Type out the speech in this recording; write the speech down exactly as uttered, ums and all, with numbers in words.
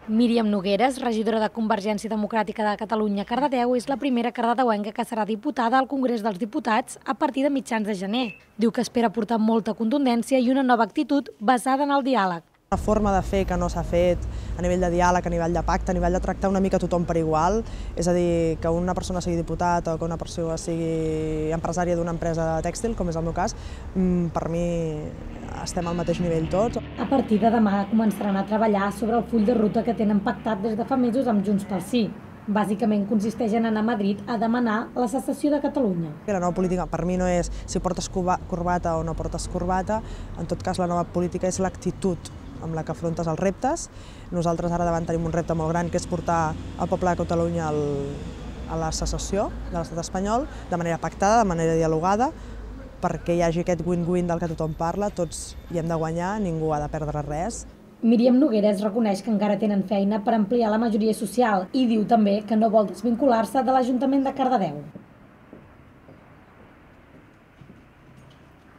Míriam Nogueras, regidora de Convergència Democràtica de Catalunya a Cardedeu, és la primera cardedeuenca que serà diputada al Congrés dels Diputats a partir de mitjans de gener. Diu que espera portar molta contundència i una nova actitud basada en el diàleg. Una forma de fer que no s'ha fet a nivell de diàleg, a nivell de pacte, a nivell de tractar una mica tothom per igual, és a dir, que una persona sigui diputat o que una persona sigui empresària d'una empresa tèxtil, com és el meu cas, per mi estem al mateix nivell tots. A partir de demà començaran a treballar sobre el full de ruta que tenen pactat des de fa mesos amb Junts pel Sí. Bàsicament consisteix en anar a Madrid a demanar la secessió de Catalunya. La nova política per mi no és si portes corbata o no portes corbata, en tot cas la nova política és l'actitud amb la que afrontes els reptes. Nosaltres ara davant tenim un repte molt gran, que és portar el poble de Catalunya a la secessió de l'estat espanyol, de manera pactada, de manera dialogada, perquè hi hagi aquest win-win del que tothom parla, tots hi hem de guanyar, ningú ha de perdre res. Míriam Nogueras reconeix que encara tenen feina per ampliar la majoria social i diu també que no vol desvincular-se de l'Ajuntament de Cardedeu.